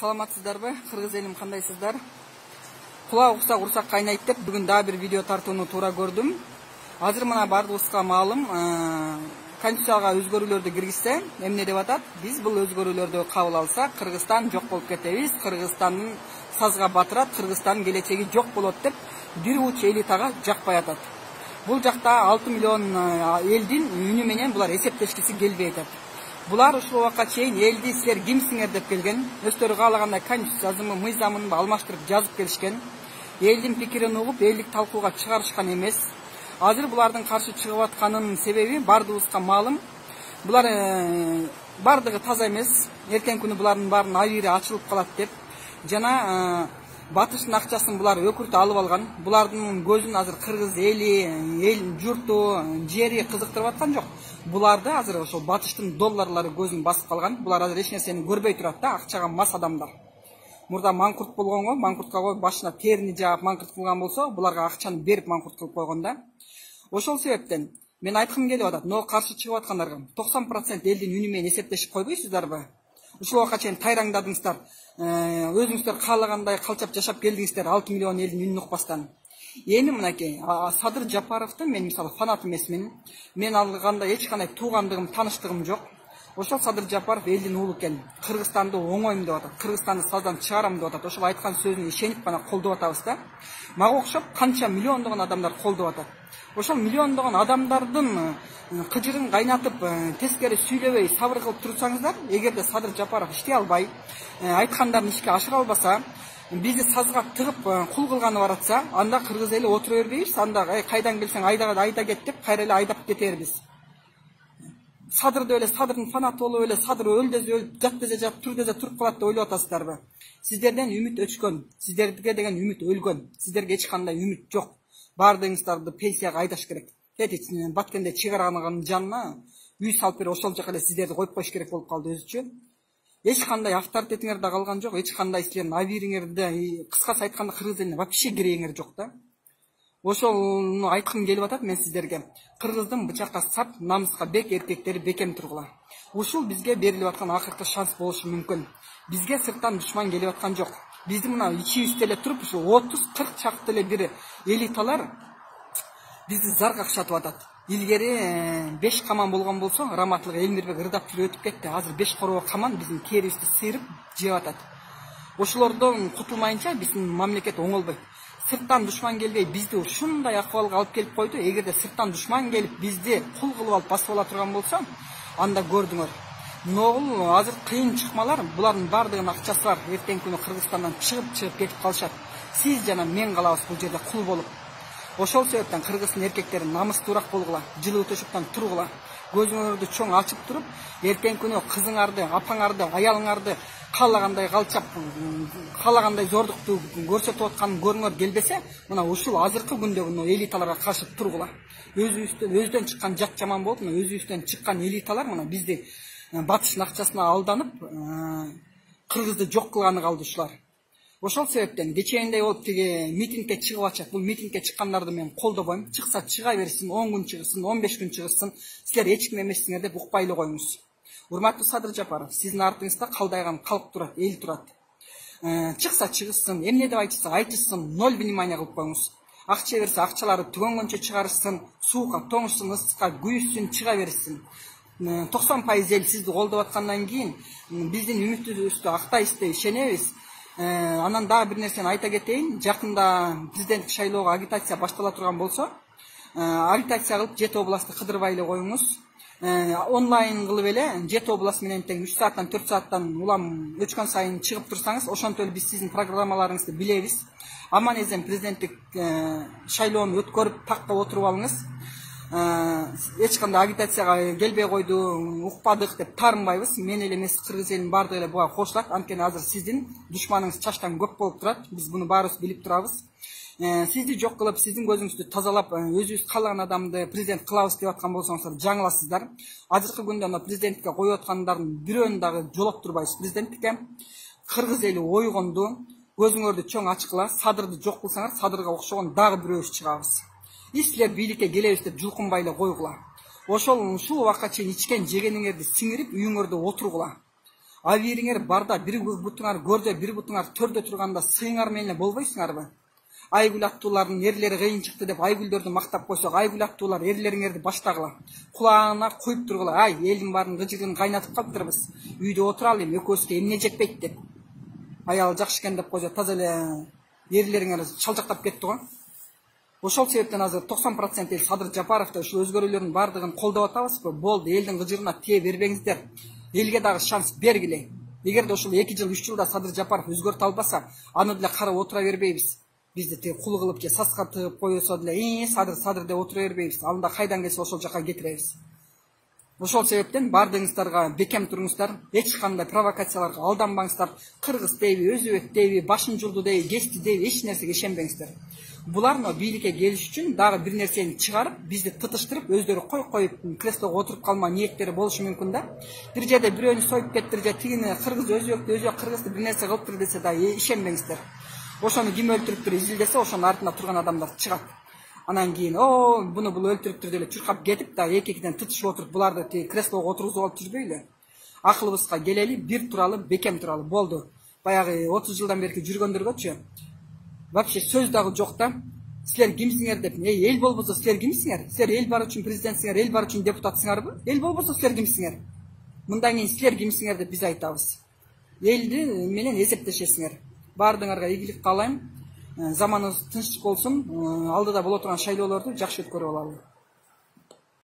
Саламатсыздарбы? Кыргыз элим кандайсыздар? Кулак уксак урсак кайнайт деп бүгүн дагы бир видео тартууну туура көрдүм. Азыр мына бардыгыбызга маалым, Конституцияга өзгөрүүлөрдү киргизсе, эмне деп атат? Биз бул өзгөрүүлөрдү кабыл алсак, Кыргызстан жок болуп кетебиз, Кыргызстандын сазга батырат, Кыргызстандын келечеги жок болот деп бир уч элитага жакпай атат. Бул жакта 6 миллион элдин үнү менен булар эсептешкиси келбей атат. Булар ушул убакка чейин элди силер кимсиңер деп келген, өздөрү каалагандай конституция жазымы, мыйзамын алмаштырып жазып келишкен. Элдин пикирин угуп, элдик талкууга чыгарышкан эмес. Азыр булардын каршы чыгып атканынын себеби бардыгыбызга маалым. Булар бардыгы таза эмес. Эртең күнү булардын баарынын абийири ачылып калат деп жана батыштын акчасын булар өкүртө алып алган. Булардын көзүн азыр кыргыз эли, эл журту, жери кызыктырып аткан жок. Буларды азыр ошол батыштын долларлары көзүн басып калган. Булар азыр эч нерсени көрбөй турат да, акчага мас адамдар. Мурда маңкурт болгонго, маңкуртка коюп башына терини жаап маңкурт кылган болсо, буларга акчаны берип маңкурт кылып койгон да. Ошол себептен мен айткым келип атат, но каршы чыгып аткандарга 90% элдин үнү менен эсептешип койбойсуздарбы? Ушул убакка чейин тайраңдадыңыздар, өзүңүздөр каалагандай калчап жашап келдиңиздер 6 миллион элдин үнүн укпастан. Эми мынакей Садыр Жапаровдун мен мисалы фанат эмесмин. Мен алганда эч кандай туугандыгым, тааныштыгым жок. Ошол Садыр Жапаров элдин уулу экен. Кыргызстанды оңойм деп атат. Кыргызстанды саздан чыгарам деп атат. Ошол айткан сөзүнө ишенип гана колдоп атабыз да. Мага окшоп канча миллиондогон адамдар колдоп атат. Ошол миллиондогон адамдардын кыжырын кайнатып, тескери сүйлөбөй сабыр кылып турсаңыздар, эгерде Садыр Жапаров иштей албай, айткандарын ишке ашыра албаса, бизди сазга тыгып кул кылганы баратса, анда кыргыз эли отура бербейбиз, анда кайдан келсең айда кет деп кайра эле айдап кетербиз. Садырды эле Садырдын фанаты болуп эле Садыр өл десе өлүп, жат десе жат, тур десе туруп калат деп ойлоп атасыздарбы? Сиздерден үмүт өчкөн, сиздерге деген үмүт өлгөн, сиздерге эч кандай үмүт жок. Бардыгыңыздарды пенсияга айдаш керек. Кетит, баткенде чыгарганын жанына үй салып берип ошол жака эле сиздерди коюп коюш керек болуп калды өзүчө. Эч кандай авторитетиңер да калган жок, эч кандай силердин абийириңерди, кыскасы айтканда кыргыз элине вообще керегиңер жок да. Ошону айткым келип атат мен сиздерге. Кыргыздын бычакка сап, намыска бек эркектери бекем тургула. Ушул бизге берилип аткан акыркы шанс болушу мүмкүн. Бизге сырттан душман келип аткан жок. Биздин мына ичибизде эле туруп, ушу 30-40 чакты эле бир элиталар бизди зар какшатып атат. Илгери 5 каман болгон болсо, Раматлык Элмирбек ырдап жүрүп өтүп кетти. Азыр 5 коробо каман биздин керибизди сыйрып жеп атат. Ошолордон кутулмайынча биздин мамлекет оңолбойт. Сырттан душман келбей бизди ушундай акыбалга алып келип койду. Эгерде сырттан душман келип бизди кул кылып алып басып ала турган болсо, анда көрдүңөр. Ногул азыр кыйын чыкмалар, булардын бардыгынын акчасы бар. Эртең күнү Кыргызстандан чыгып кетип калышат. Сиз жана мен калабыз бул жерде кул болуп. Ошол себептен кыргыздын эркектери намыстуураак болгула, жылуу төшөктөн тургула. Көзүңөрдү чоң ачып туруп, эртең күнү кызыңарды, апаңарды, аялыңарды каалагандай калчап, каалагандай зордукту көрсөтүп атканын көрүңөр келбесе, мына ушул азыркы күндөгү элиталарга каршы тургула. Өзүдөн чыккан жат жаман болуп, өзүбүздөн чыккан элиталар мына бизди батыштын акчасына алданып, кыргызды жок кылганы калды ушулар. Ошол себептен кечээндей болуп тиги митингге чыгып атышат. Бул митингге чыккандарды мен колдобойм. Чыкса чыга берсин, 10 күн чыгсын, 15 күн чыгсын. Силер эч ким эмессиңер деп укпай эле коюңуз. Урматтуу Садыр Жапаров, сиздин артыңызда калдайган калк турат, эл турат. Чыкса чыгышсын, эмне деп айтышса айтышсын, ноль внимания кылып коюңуз. Акча берсе акчалары түгөнгөнчө чыгарышсын, суука тоңушсын, ысыкка күйүшсүн, чыга берсин. 90% эл сизди колдоп аткандан кийин биздин үмүтүбүздү актайбыз деп ишенебиз. Анан дагы бир нерсени айта кетейин. Жакында президенттик шайлоого агитация баштала турган болсо, агитация кылып Жети областты кыдырбай эле коюңуз. Онлайн кылып эле Жети област менен тең 3 сааттан 4 сааттан улам өчкөн сайын чыгып турсаңыз, ошонтип эле биз сиздин программаларыңызды билебиз. Аман эзем президенттик шайлоону өткөрүп такка отуруп алыңыз. Эч кандай агитацияга келбей койду, укпадык деп таарынбайбыз. Мен эле эмес, кыргыз элинин бардыгы эле буга кошулат. Анткени азыр сиздин душманыңыз чачтан көп болуп турат. Биз буну баарыбыз билип турабыз. Сизди жок кылып, сиздин көзүңүздү тазалап, өзүбүз каалаган адамды президент кылабыз деп аткан болсоңуздар жаңыласыздар. Азыркы күндө президенттикке коюп аткандардын бирөөнү дагы жолоктурбайбыз президенттикке. Кыргыз эли ойгонду, көзүңөрдү чоң ачкыла, Садырды жок кылсаңар, Садырга окшогон дагы бирөөбүз чыгабыз. Силер бийликке келебиз деп жулкунбай эле койгула. Ушул убакка чейин ичкен жегениңерди сиңирип, үйүңөрдө отургула. Абийириңер барда бир бутуңар көрдө, бир бутуңар төрдө турганда сыйыңар менен болбойсуңарбы? Айгүл аттуулардын эрлери кыйын чыкты деп айгүлдөрдү мактап койсок, айгүл аттуулар эрлериңерди баштагыла. Кулагына коюп тургула. Ай, элдин баарын кыжыгын кайнатып калыптырбыз. Үйдө отуралы, экөөбүзгө эмне жетпейт деп. Аял жакшы экен деп койсо, таза эле эрлериңер чалчактап кетти го. Ошол себептен азыр 90% эл Садыр Жапаровду ушул өзгөрүүлөрдүн баардыгын колдоп атабызбы? Болду, элдин кыжырына тие бербеңиздер. Элге дагы шанс бергиле. Эгерде ушул 2 жыл, 3 жылда Садыр Жапаров өзгөртө албаса, аны деле карап отура бербейбиз. Бизди тиги кул кылып же саска тыгып койсо деле, Садыр деп отура бербейбиз. Анда кайдан келсе ошол жака кетиребиз. Ошол себептен бардыгыңыздарга бекем туруңуздар, эч кандай провокацияларга алданбаңыздар. Кыргыз дейби, өзбек дейби, башын жулду дейби, кести дейби, эч нерсеге ишенбеңиздер. Булар бийликке келиш үчүн дагы бир нерсени чыгарып, бизди тытыштырып, өздөрү коюп креслого отуруп калма ниеттери болушу мүмкүн да. Бир жерде бирөөнү союп кеттир же тигини кыргыз өзбөктү, өзбек кыргызды бир нерсе кылыптыр десе да ишенбеңиздер. Ошону ким өлтүрүптүр изилдесе, ошонун артында турган адамдар чыгат. Анан кийин, буну бул өлтүрүптүр деп чуркап кетип да эки-экиден тытышып отуруп, буларды тиги креслого отургузуп алып жүрбөйлү. Акылыбызга келели, бир туралы, бекем туралы. Болду. Баягы 30 жылдан берки жүргөндөргөчү вообще сөз дагы жок да. Силер кимсиңер деп, эл болбосо силер кимсиңер? Силер эл бар үчүн президентсиңер, эл бар үчүн депутатсыңарбы? Эл болбосо силер кимсиңер? Мындан кийин силер кимсиңер деп биз айтабыз. Элди менен эсептешесиңер. Бардыгыңарга ийгилик каалайм. Заманыбыз тынчтык болсун. Алдыда боло турган шайлоолорду жакшы өткөрүп алалы.